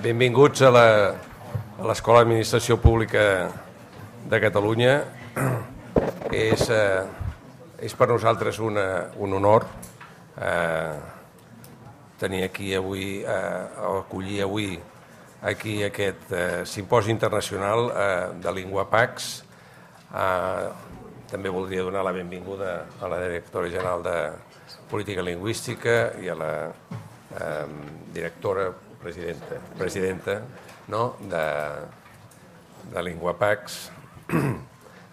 Benvinguts a l'Escola d'Administració Pública de Catalunya. És per nosaltres un honor tenir aquí avui, acollir avui aquí aquest simposi internacional de LinguaPax. També voldria donar la benvinguda a la directora general de Política Lingüística i a la directora, presidenta de LinguaPax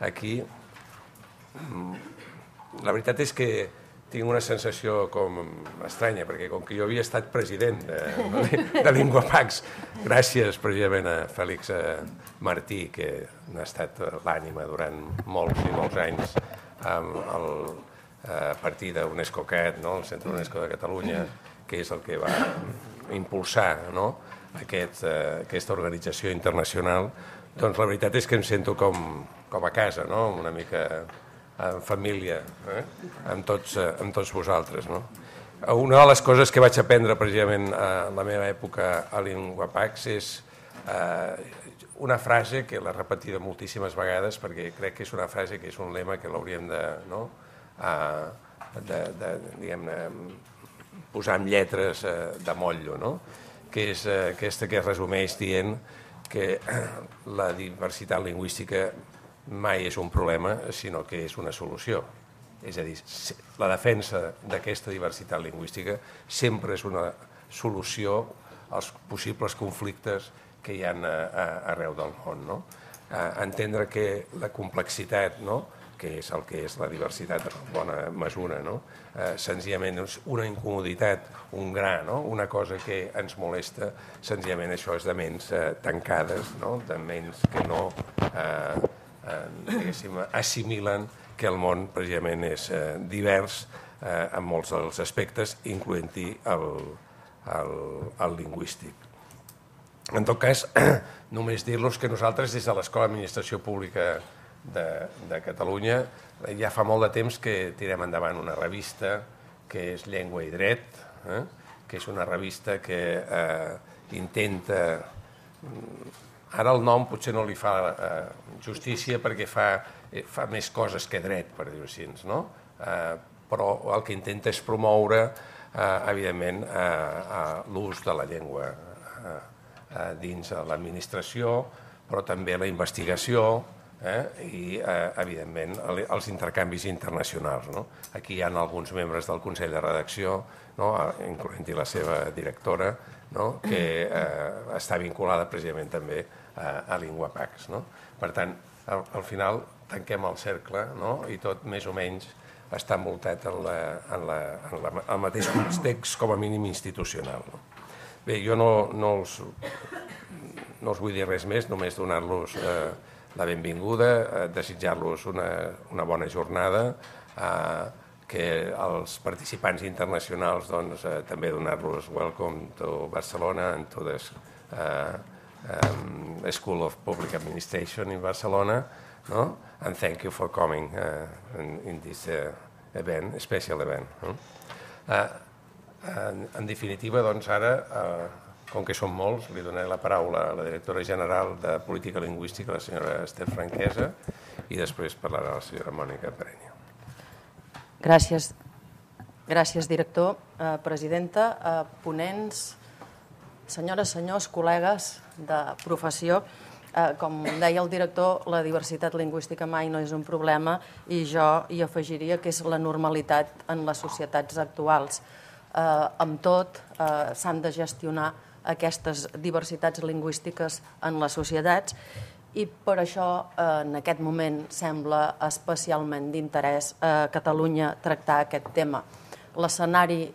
aquí. La veritat és que tinc una sensació com estranya, perquè com que jo havia estat president de LinguaPax, gràcies precisament a Fèlix Martí, que n'ha estat l'ànima durant molts i molts anys a partir d'UNESCOCAT, el Centre UNESCO de Catalunya, que és el que va impulsar aquesta organització internacional. Doncs la veritat és que em sento com a casa, una mica en família, amb tots vosaltres. Una de les coses que vaig aprendre precisament a la meva època a LinguaPax és una frase que l'he repetida moltíssimes vegades, perquè crec que és una frase que és un lema que l'hauríem de posar amb lletres de motllo, que és aquesta que es resumeix dient que la diversitat lingüística mai és un problema, sinó que és una solució. És a dir, la defensa d'aquesta diversitat lingüística sempre és una solució als possibles conflictes que hi ha arreu del món. Entendre que la complexitat, que és el que és la diversitat en bona mesura, senzillament és una incomoditat, un gra, una cosa que ens molesta, senzillament això és de ments tancades, de ments que no assimilen que el món precisament és divers en molts dels aspectes, incloent-hi el lingüístic. En tot cas, només dir-los que nosaltres des de l'Escola d'Administració Pública de Catalunya ja fa molt de temps que tirem endavant una revista que és Llengua i Dret, que és una revista que intenta... Ara el nom potser no li fa justícia perquè fa més coses que dret, per dir-ho així, però el que intenta és promoure, evidentment, l'ús de la llengua dins l'administració, però també la investigació i, evidentment, els intercanvis internacionals. Aquí hi ha alguns membres del Consell de Redacció, incloent-hi la seva directora, que està vinculada precisament també a LinguaPax. Per tant, al final tanquem el cercle i tot més o menys està envoltat en el mateix context com a mínim institucional. Bé, jo no us vull dir res més, només donar-los la benvinguda, desitjar-los una bona jornada, que els participants internacionals també donar-los welcome to Barcelona and to the School of Public Administration in Barcelona, and thank you for coming in this event, special event. En definitiva, doncs ara, com que som molts, li donaré la paraula a la directora general de Política Lingüística, la senyora Esther Franquesa, i després parlarà la senyora Mònica Pereño. Gràcies. Gràcies, director, presidenta, ponents, senyores, senyors, col·legues de professió. Com deia el director, la diversitat lingüística mai no és un problema i jo hi afegiria que és la normalitat en les societats actuals. Amb tot, s'han de gestionar aquestes diversitats lingüístiques en les societats i per això en aquest moment sembla especialment d'interès a Catalunya tractar aquest tema. L'escenari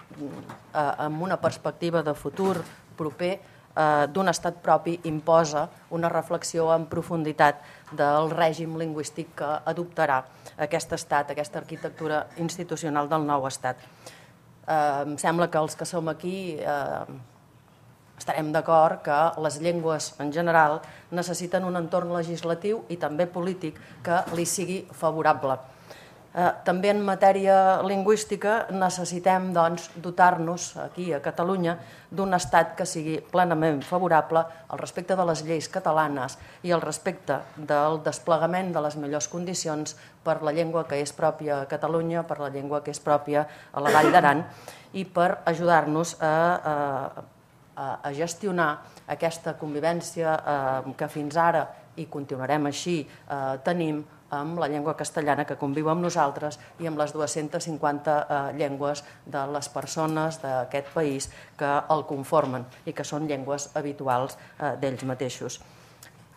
amb una perspectiva de futur proper d'un estat propi imposa una reflexió en profunditat del règim lingüístic que adoptarà aquest estat, aquesta arquitectura institucional del nou estat. Em sembla que els que som aquí estarem d'acord que les llengües en general necessiten un entorn legislatiu i també polític que li sigui favorable. També en matèria lingüística necessitem dotar-nos aquí a Catalunya d'un estat que sigui plenament favorable al respecte de les lleis catalanes i al respecte del desplegament de les millors condicions per la llengua que és pròpia a Catalunya, per la llengua que és pròpia a la Vall d'Aran i per ajudar-nos a gestionar aquesta convivència que fins ara i continuarem així tenim amb la llengua castellana que conviu amb nosaltres i amb les 250 llengües de les persones d'aquest país que el conformen i que són llengües habituals d'ells mateixos.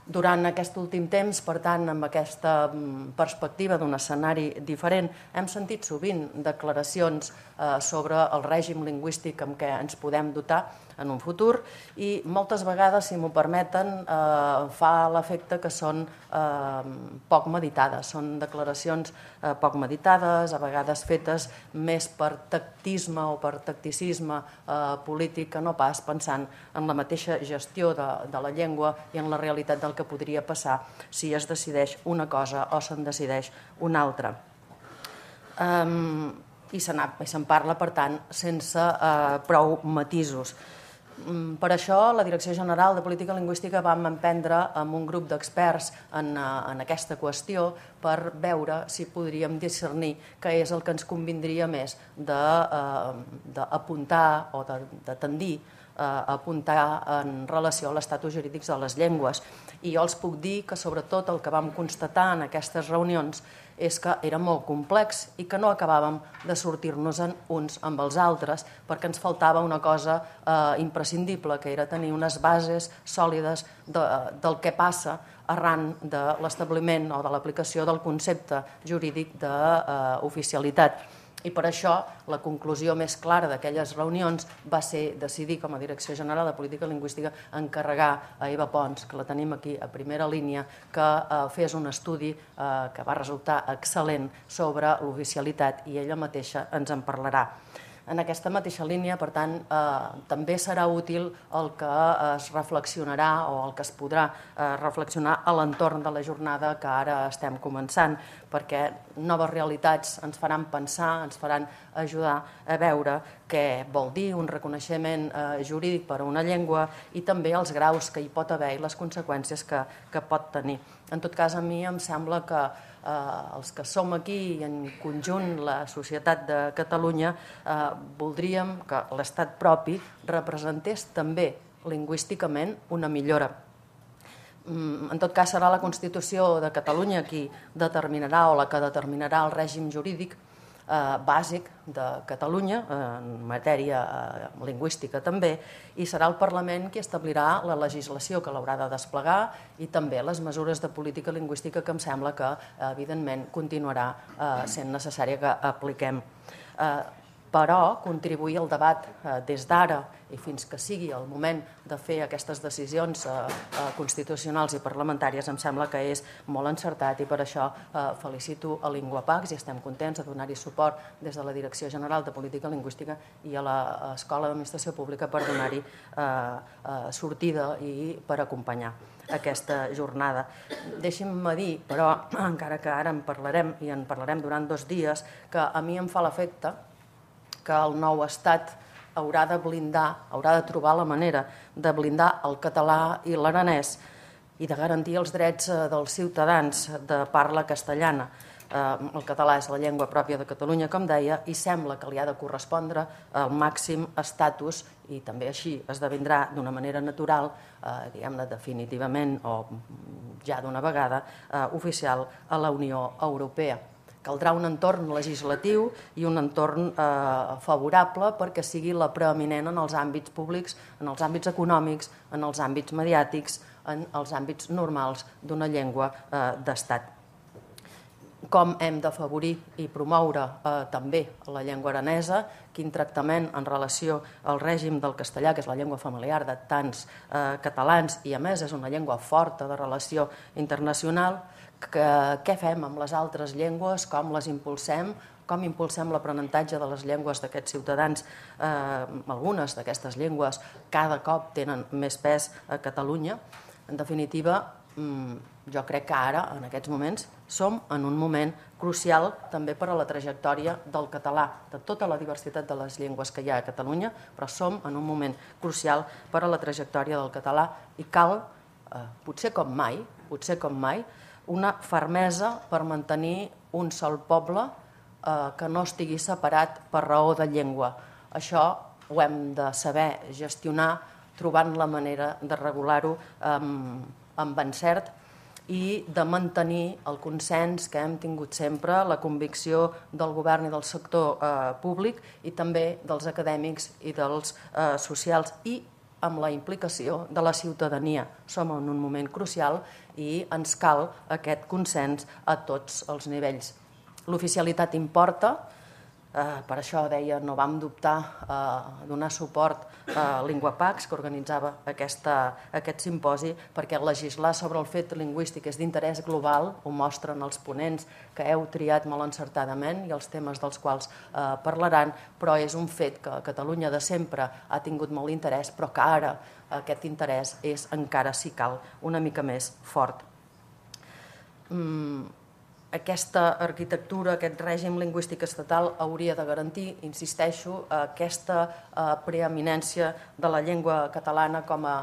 Durant aquest últim temps, per tant, amb aquesta perspectiva d'un escenari diferent, hem sentit sovint declaracions sobre el règim lingüístic amb què ens podem dotar en un futur i moltes vegades, si m'ho permeten, fa l'efecte que són poc meditades. Són declaracions poc meditades, a vegades fetes més per tactisme o per tacticisme polític que no pas pensant en la mateixa gestió de la llengua i en la realitat del que podria passar si es decideix una cosa o se'n decideix una altra. I se'n parla, per tant, sense prou matisos. Per això, la Direcció General de Política Lingüística vam emprendre amb un grup d'experts en aquesta qüestió per veure si podríem discernir què és el que ens convindria més d'apuntar o de tendir a apuntar en relació a l'estatus jurídic de les llengües. I jo els puc dir que, sobretot, el que vam constatar en aquestes reunions és que era molt complex i que no acabàvem de sortir-nos uns amb els altres perquè ens faltava una cosa imprescindible, que era tenir unes bases sòlides del que passa arran de l'establiment o de l'aplicació del concepte jurídic d'oficialitat. I per això la conclusió més clara d'aquelles reunions va ser decidir, com a Direcció General de Política Lingüística, encarregar a Eva Pons, que la tenim aquí a primera línia, que fes un estudi que va resultar excel·lent sobre l'oficialitat i ella mateixa ens en parlarà. En aquesta mateixa línia, per tant, també serà útil el que es reflexionarà o el que es podrà reflexionar a l'entorn de la jornada que ara estem començant, perquè noves realitats ens faran pensar, ens faran ajudar a veure què vol dir un reconeixement jurídic per a una llengua i també els graus que hi pot haver i les conseqüències que pot tenir. En tot cas, a mi em sembla que els que som aquí i en conjunt la societat de Catalunya voldríem que l'estat propi representés també lingüísticament una millora. En tot cas, serà la Constitució de Catalunya qui determinarà o la que determinarà el règim jurídic bàsic de Catalunya, en matèria lingüística també, i serà el Parlament qui establirà la legislació que l'haurà de desplegar i també les mesures de política lingüística que em sembla que, evidentment, continuarà sent necessària que apliquem. Però contribuir al debat des d'ara i fins que sigui el moment de fer aquestes decisions constitucionals i parlamentàries em sembla que és molt encertat i per això felicito a Linguapax i estem contents de donar-hi suport des de la Direcció General de Política Lingüística i a l'Escola d'Administració Pública per donar-hi sortida i per acompanyar aquesta jornada. Deixi'm dir, però, encara que ara en parlarem i en parlarem durant 2 dies, que a mi em fa l'efecte que el nou estat haurà de blindar, haurà de trobar la manera de blindar el català i l'aranès i de garantir els drets dels ciutadans de parla castellana. El català és la llengua pròpia de Catalunya, com deia, i sembla que li ha de correspondre el màxim estatus i també així esdevindrà d'una manera natural, diguem-ne definitivament o ja d'una vegada, oficial a la Unió Europea. Caldrà un entorn legislatiu i un entorn favorable perquè sigui la preeminent en els àmbits públics, en els àmbits econòmics, en els àmbits mediàtics, en els àmbits normals d'una llengua d'estat. Com hem d'afavorir i promoure també la llengua aranesa, quin tractament en relació al règim del castellà, que és la llengua familiar de tants catalans i a més és una llengua forta de relació internacional, què fem amb les altres llengües, com les impulsem, com impulsem l'aprenentatge de les llengües d'aquests ciutadans. Algunes d'aquestes llengües cada cop tenen més pes a Catalunya. En definitiva, jo crec que ara, en aquests moments, som en un moment crucial també per a la trajectòria del català, de tota la diversitat de les llengües que hi ha a Catalunya, però som en un moment crucial per a la trajectòria del català i cal, potser com mai, una fermesa per mantenir un sol poble que no estigui separat per raó de llengua. Això ho hem de saber gestionar trobant la manera de regular-ho amb encert i de mantenir el consens que hem tingut sempre, la convicció del govern i del sector públic i també dels acadèmics i dels socials i amb la implicació de la ciutadania. Som en un moment crucial i ens cal aquest consens a tots els nivells. L'oficialitat importa, per això deia, no vam dubtar a donar suport a LinguaPax, que organitzava aquest simposi, perquè legislar sobre el fet lingüístic és d'interès global, ho mostren els ponents que heu triat molt encertadament i els temes dels quals parlaran, però és un fet que a Catalunya de sempre ha tingut molt interès, però que ara aquest interès és encara, si cal, una mica més fort. Aquesta arquitectura, aquest règim lingüístic estatal hauria de garantir, insisteixo, aquesta preeminència de la llengua catalana com a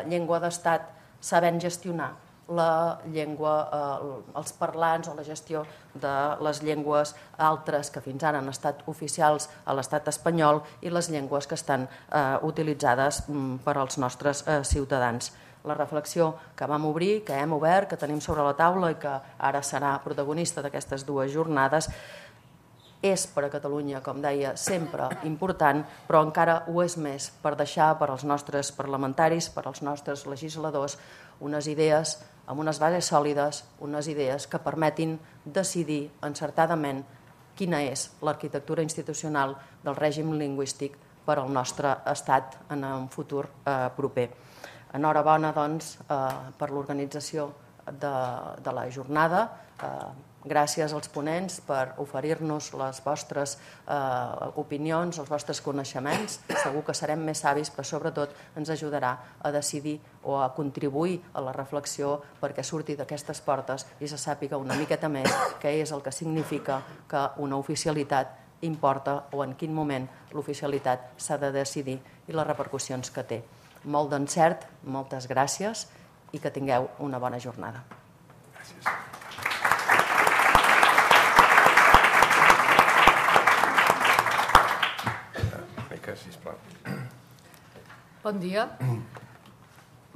llengua d'estat, sabent gestionar la llengua, els parlants o la gestió de les llengües altres que fins ara han estat oficials a l'estat espanyol i les llengües que estan utilitzades per als nostres ciutadans. La reflexió que vam obrir, que hem obert, que tenim sobre la taula i que ara serà protagonista d'aquestes dues jornades, és per a Catalunya, com deia, sempre important, però encara ho és més per deixar per als nostres parlamentaris, per als nostres legisladors, unes idees amb unes bases sòlides, unes idees que permetin decidir encertadament quina és l'arquitectura institucional del règim lingüístic per al nostre estat en un futur proper. Enhorabona, doncs, per l'organització de la jornada. Gràcies als ponents per oferir-nos les vostres opinions, els vostres coneixements. Segur que serem més savis, però sobretot ens ajudarà a decidir o a contribuir a la reflexió perquè surti d'aquestes portes i se sàpiga una miqueta més què és el que significa que una oficialitat importa o en quin moment l'oficialitat s'ha de decidir i les repercussions que té. Molt d'encert, moltes gràcies i que tingueu una bona jornada. Gràcies. Mica, sisplau. Bon dia.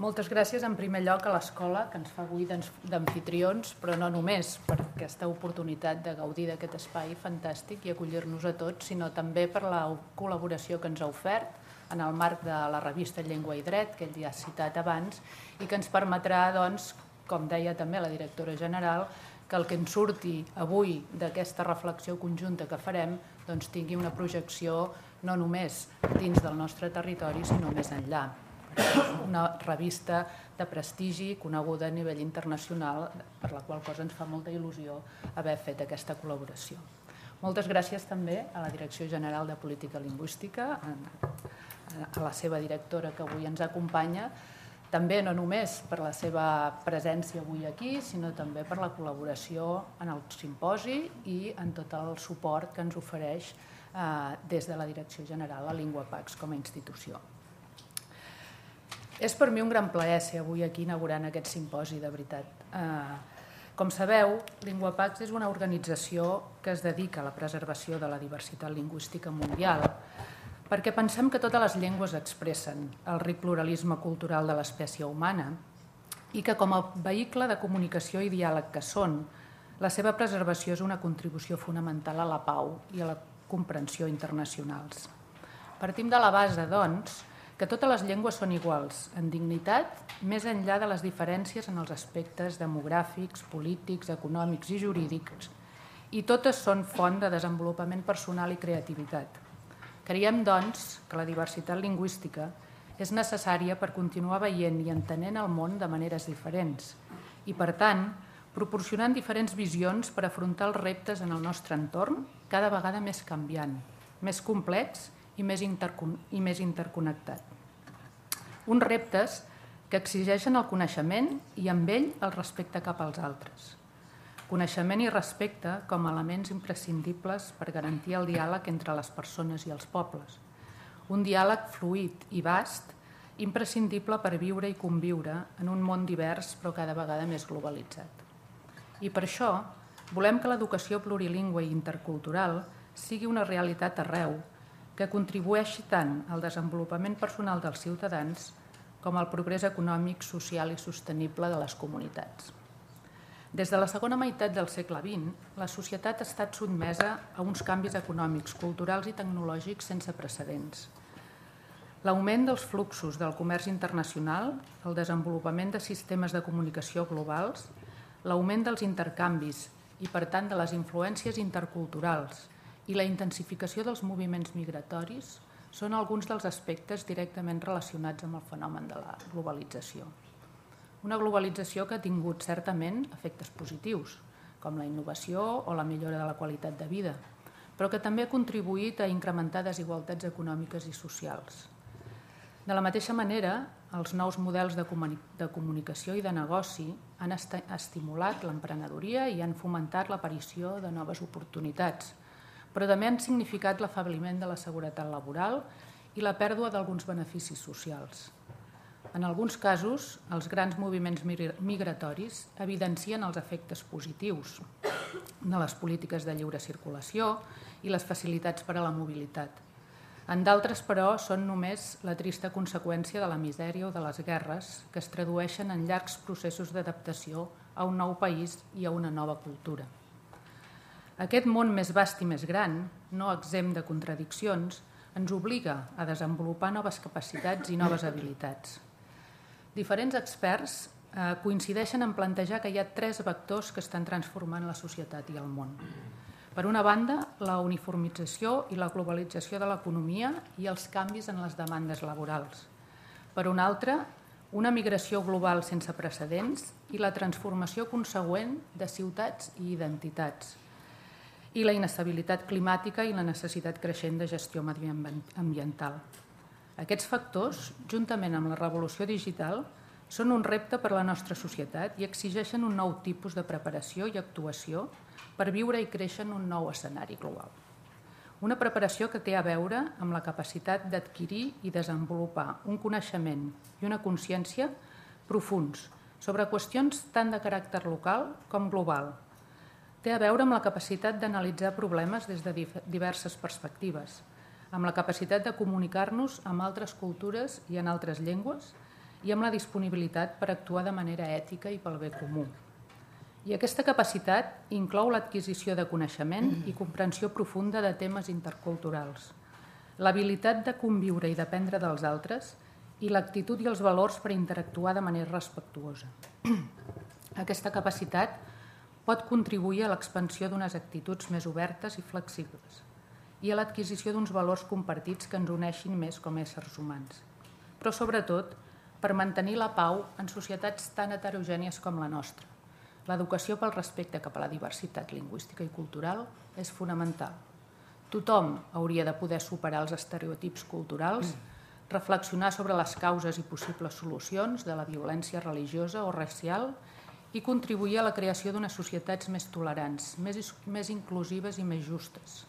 Moltes gràcies en primer lloc a l'escola que ens fa avui d'amfitrions, però no només per aquesta oportunitat de gaudir d'aquest espai fantàstic i acollir-nos a tots, sinó també per la col·laboració que ens ha ofert en el marc de la revista Llengua i Dret, que ell ja ha citat abans, i que ens permetrà, doncs, com deia també la directora general, que el que ens surti avui d'aquesta reflexió conjunta que farem doncs, tingui una projecció no només dins del nostre territori, sinó més enllà. És una revista de prestigi coneguda a nivell internacional, per la qual cosa ens fa molta il·lusió haver fet aquesta col·laboració. Moltes gràcies també a la Direcció General de Política Lingüística, a la seva directora que avui ens acompanya, també no només per la seva presència avui aquí, sinó també per la col·laboració en el simposi i en tot el suport que ens ofereix des de la Direcció General a LinguaPax com a institució. És per mi un gran plaer ser avui aquí inaugurant aquest simposi, de veritat. Com sabeu, LinguaPax és una organització que es dedica a la preservació de la diversitat lingüística mundial, perquè pensem que totes les llengües expressen el ric pluralisme cultural de l'espècie humana i que com a vehicle de comunicació i diàleg que són, la seva preservació és una contribució fonamental a la pau i a la comprensió internacionals. Partim de la base, doncs, que totes les llengües són iguals en dignitat, més enllà de les diferències en els aspectes demogràfics, polítics, econòmics i jurídics, i totes són font de desenvolupament personal i creativitat. Creiem, doncs, que la diversitat lingüística és necessària per continuar veient i entenent el món de maneres diferents i, per tant, proporcionant diferents visions per afrontar els reptes en el nostre entorn cada vegada més canviant, més complex i més interconnectat. Uns reptes que exigeixen el coneixement i amb ell el respecte cap als altres. Coneixement i respecte com a elements imprescindibles per garantir el diàleg entre les persones i els pobles. Un diàleg fluid i vast, imprescindible per viure i conviure en un món divers però cada vegada més globalitzat. I per això volem que l'educació plurilingüe i intercultural sigui una realitat arreu, que contribueixi tant al desenvolupament personal dels ciutadans com al progrés econòmic, social i sostenible de les comunitats. Des de la segona meitat del segle XX, la societat ha estat sotmesa a uns canvis econòmics, culturals i tecnològics sense precedents. L'augment dels fluxos del comerç internacional, el desenvolupament de sistemes de comunicació globals, l'augment dels intercanvis i, per tant, de les influències interculturals i la intensificació dels moviments migratoris són alguns dels aspectes directament relacionats amb el fenomen de la globalització. Una globalització que ha tingut certament efectes positius, com la innovació o la millora de la qualitat de vida, però que també ha contribuït a incrementar desigualtats econòmiques i socials. De la mateixa manera, els nous models de comunicació i de negoci han estimulat l'emprenedoria i han fomentat l'aparició de noves oportunitats, però també han significat l'afebliment de la seguretat laboral i la pèrdua d'alguns beneficis socials. En alguns casos, els grans moviments migratoris evidencien els efectes positius de les polítiques de lliure circulació i les facilitats per a la mobilitat. En d'altres, però, són només la trista conseqüència de la misèria o de les guerres que es tradueixen en llargs processos d'adaptació a un nou país i a una nova cultura. Aquest món més vast i més gran, no exempt de contradiccions, ens obliga a desenvolupar noves capacitats i noves habilitats. Diferents experts coincideixen en plantejar que hi ha 3 vectors que estan transformant la societat i el món. Per una banda, la uniformització i la globalització de l'economia i els canvis en les demandes laborals. Per una altra, una migració global sense precedents i la transformació consegüent de ciutats i identitats, i la inestabilitat climàtica i la necessitat creixent de gestió mediambiental. Aquests factors, juntament amb la revolució digital, són un repte per a la nostra societat i exigeixen un nou tipus de preparació i actuació per viure i créixer en un nou escenari global. Una preparació que té a veure amb la capacitat d'adquirir i desenvolupar un coneixement i una consciència profuns sobre qüestions tant de caràcter local com global. Té a veure amb la capacitat d'analitzar problemes des de diverses perspectives, amb la capacitat de comunicar-nos amb altres cultures i en altres llengües i amb la disponibilitat per actuar de manera ètica i pel bé comú. I aquesta capacitat inclou l'adquisició de coneixement i comprensió profunda de temes interculturals, l'habilitat de conviure i d'aprendre dels altres i l'actitud i els valors per interactuar de manera respectuosa. Aquesta capacitat pot contribuir a l'expansió d'unes actituds més obertes i flexibles i a l'adquisició d'uns valors compartits que ens uneixin més com a éssers humans, però sobretot per mantenir la pau en societats tan heterogènies com la nostra. L'educació pel respecte cap a la diversitat lingüística i cultural és fonamental. Tothom hauria de poder superar els estereotips culturals, reflexionar sobre les causes i possibles solucions de la violència religiosa o racial i contribuir a la creació d'unes societats més tolerants, més inclusives i més justes.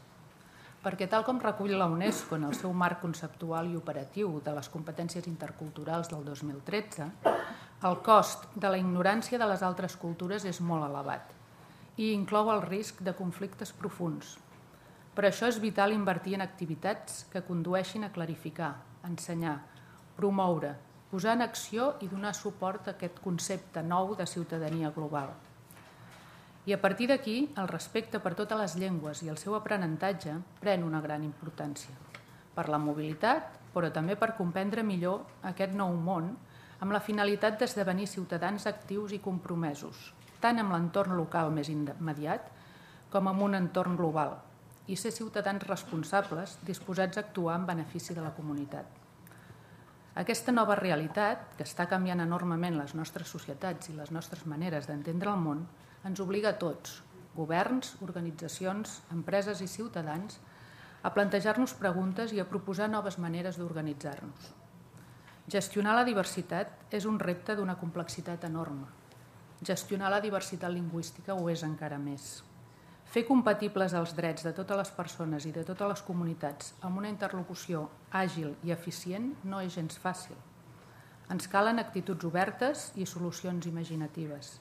Perquè tal com recull la UNESCO en el seu marc conceptual i operatiu de les competències interculturals del 2013, el cost de la ignorància de les altres cultures és molt elevat i inclou el risc de conflictes profunds. Per això és vital invertir en activitats que condueixin a clarificar, ensenyar, promoure, posar en acció i donar suport a aquest concepte nou de ciutadania global. I a partir d'aquí, el respecte per totes les llengües i el seu aprenentatge pren una gran importància. Per la mobilitat, però també per comprendre millor aquest nou món amb la finalitat d'esdevenir ciutadans actius i compromesos, tant amb l'entorn local més immediat com amb un entorn global, i ser ciutadans responsables disposats a actuar en benefici de la comunitat. Aquesta nova realitat, que està canviant enormement les nostres societats i les nostres maneres d'entendre el món, ens obliga a tots, governs, organitzacions, empreses i ciutadans, a plantejar-nos preguntes i a proposar noves maneres d'organitzar-nos. Gestionar la diversitat és un repte d'una complexitat enorme. Gestionar la diversitat lingüística ho és encara més. Fer compatibles els drets de totes les persones i de totes les comunitats amb una interlocució àgil i eficient no és gens fàcil. Ens calen actituds obertes i solucions imaginatives.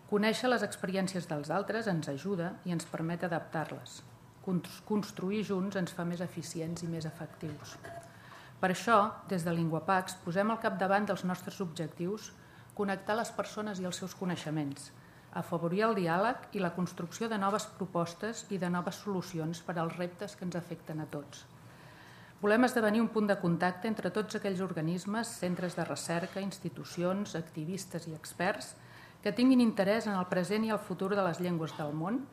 Conèixer les experiències dels altres ens ajuda i ens permet adaptar-les. Construir junts ens fa més eficients i més efectius. Per això, des de LinguaPax, posem al capdavant dels nostres objectius connectar les persones i els seus coneixements, afavorir el diàleg i la construcció de noves propostes i de noves solucions per als reptes que ens afecten a tots. Volem esdevenir un punt de contacte entre tots aquells organismes, centres de recerca, institucions, activistes i experts que tinguin interès en el present i el futur de les llengües del món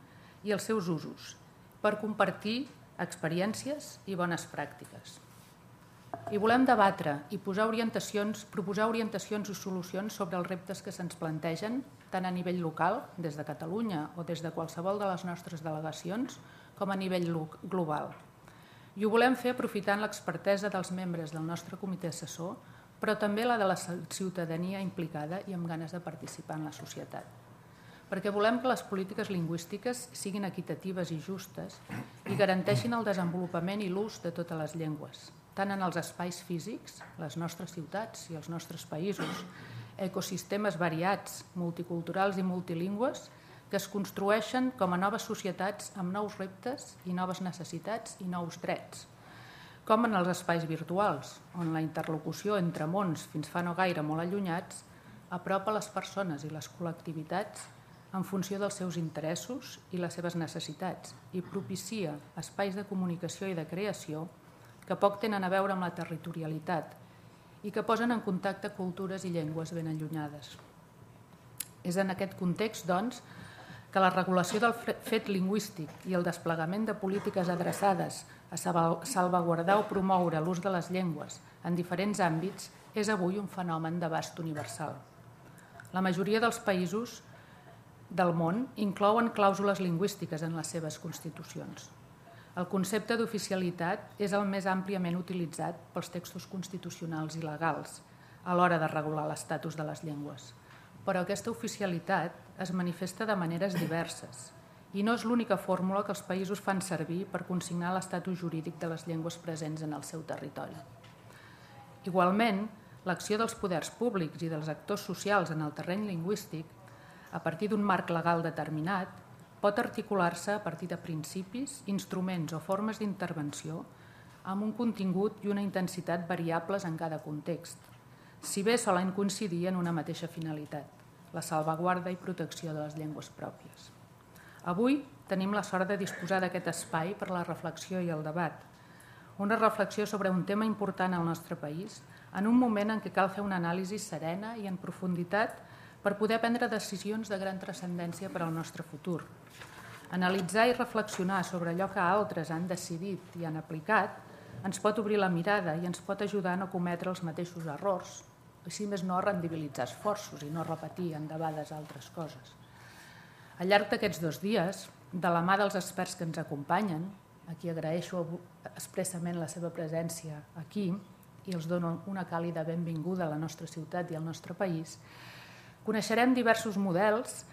i els seus usos, per compartir experiències i bones pràctiques. I volem debatre i proposar orientacions i solucions sobre els reptes que se'ns plantegen, tant a nivell local, des de Catalunya o des de qualsevol de les nostres delegacions, com a nivell global. I ho volem fer aprofitant l'expertesa dels membres del nostre comitè assessor, però també la de la ciutadania implicada i amb ganes de participar en la societat. Perquè volem que les polítiques lingüístiques siguin equitatives i justes i garanteixin el desenvolupament i l'ús de totes les llengües, tant en els espais físics, les nostres ciutats i els nostres països, ecosistemes variats, multiculturals i multilingües, que es construeixen com a noves societats amb nous reptes i noves necessitats i nous drets, com en els espais virtuals, on la interlocució entre mons fins fa no gaire molt allunyats apropa les persones i les col·lectivitats en funció dels seus interessos i les seves necessitats i propicia espais de comunicació i de creació que poc tenen a veure amb la territorialitat i que posen en contacte cultures i llengües ben allunyades. És en aquest context, doncs, que la regulació del fet lingüístic i el desplegament de polítiques adreçades a salvaguardar o promoure l'ús de les llengües en diferents àmbits és avui un fenomen d'abast universal. La majoria dels països del món inclouen clàusules lingüístiques en les seves constitucions. El concepte d'oficialitat és el més àmpliament utilitzat pels textos constitucionals i legals a l'hora de regular l'estatus de les llengües. Però aquesta oficialitat es manifesta de maneres diverses i no és l'única fórmula que els països fan servir per consignar l'estatus jurídic de les llengües presents en el seu territori. Igualment, l'acció dels poders públics i dels actors socials en el terreny lingüístic, a partir d'un marc legal determinat, pot articular-se a partir de principis, instruments o formes d'intervenció amb un contingut i una intensitat variables en cada context, si bé solen coincidir en una mateixa finalitat, la salvaguarda i protecció de les llengües pròpies. Avui tenim la sort de disposar d'aquest espai per la reflexió i el debat, una reflexió sobre un tema important al nostre país en un moment en què cal fer una anàlisi serena i en profunditat per poder prendre decisions de gran transcendència per al nostre futur. Analitzar i reflexionar sobre allò que altres han decidit i han aplicat ens pot obrir la mirada i ens pot ajudar a no cometre els mateixos errors, i si més no, rendibilitzar esforços i no repetir endebades altres coses. Al llarg d'aquests 2 dies, de la mà dels experts que ens acompanyen, a qui agraeixo expressament la seva presència aquí i els dono una càlida benvinguda a la nostra ciutat i al nostre país, coneixerem diversos models,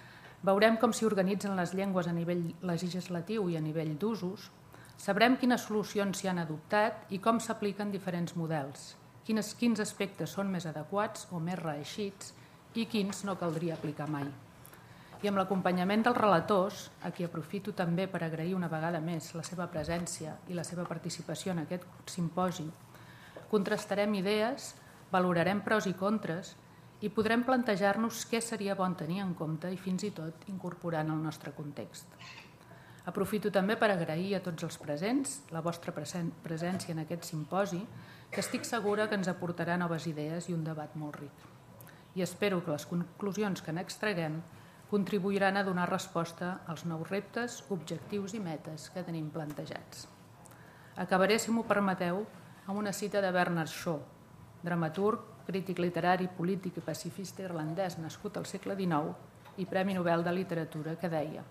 veurem com s'hi organitzen les llengües a nivell legislatiu i a nivell d'usos, sabrem quines solucions s'hi han adoptat i com s'apliquen diferents models, quins aspectes són més adequats o més reeixits i quins no caldria aplicar mai. I amb l'acompanyament dels relators, a qui aprofito també per agrair una vegada més la seva presència i la seva participació en aquest simposi, contrastarem idees, valorarem pros i contres i podrem plantejar-nos què seria bon tenir en compte i fins i tot incorporar en el nostre context. Aprofito també per agrair a tots els presents la vostra presència en aquest simposi, que estic segura que ens aportarà noves idees i un debat molt ric. I espero que les conclusions que n'extraguem contribuiran a donar resposta als nous reptes, objectius i metes que tenim plantejats. Acabaré, si m'ho permeteu, amb una cita de Bernard Shaw, dramaturg, crític literari, polític i pacifista irlandès nascut al segle XIX i Premi Nobel de Literatura, que deia: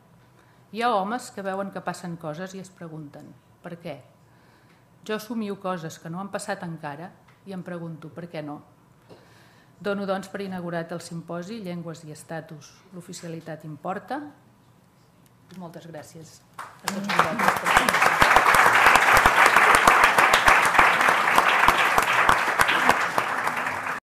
hi ha homes que veuen que passen coses i es pregunten per què? Jo somio coses que no han passat encara i em pregunto, per què no? Dono, doncs, per inaugurat el simposi Llengües i estatus, l'oficialitat importa. Moltes gràcies a tots vosaltres per